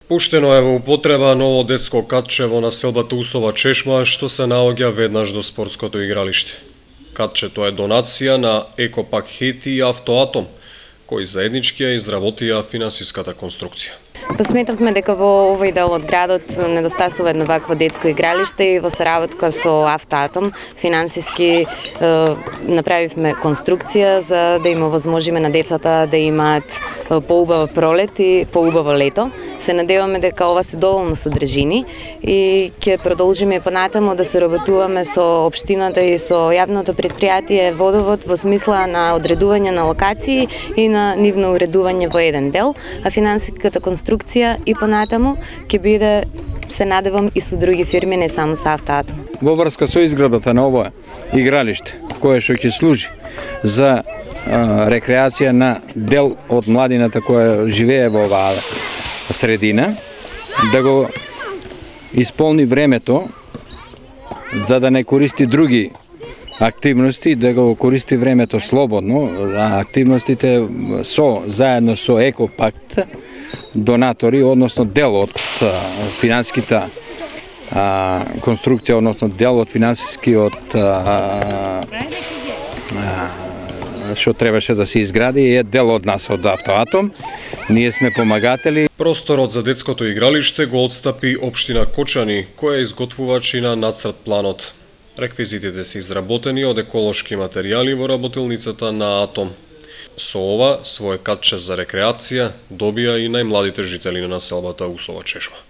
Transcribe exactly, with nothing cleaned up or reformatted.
Пуштено е во употреба ново детско катче во населбата Усова Чешма, што се наоѓа веднаш до спортското игралиште. Катчето е донација на Екопак Хети и Автоатом, кои заеднички ја изработија финансиската конструкција. Посметавме дека во овој дел од градот недостасува едно вакво детско игралиште и во соработка со Автоатом финансиски е, направивме конструкција за да им овозможиме на децата да имаат поубава пролет и поубаво лето. Се надеваме дека ова се доволно содржини и ќе продолжиме понатаму да се работуваме со општината и со јавното претпријатие Водовод во смисла на одредување на локации и на нивно уредување во еден дел, а финансиската конструкција и понатаму ќе биде, се надевам, и со други фирми, не само со Автоатом. Во врска со изградбата на ова игралиште, кое што ќе служи за а, рекреација на дел од младината која живее во оваа средина, да го исполни времето за да не користи други активности, да го користи времето слободно, а активностите со заедно со Екопакт донатори, односно дел од финансиската а, конструкција, односно дел од финансискиот а, а, што требаше да се изгради, е дел од нас, од Автоатом. Ние сме помагатели. Просторот за детското игралиште го отстапи општина Кочани, која изготвувачи на нацрт планот. Реквизитите се изработени од еколошки материјали во работилницата на Атом. Со ова, свој катче за рекреација добија и најмладите жители на населбата Усова Чешма.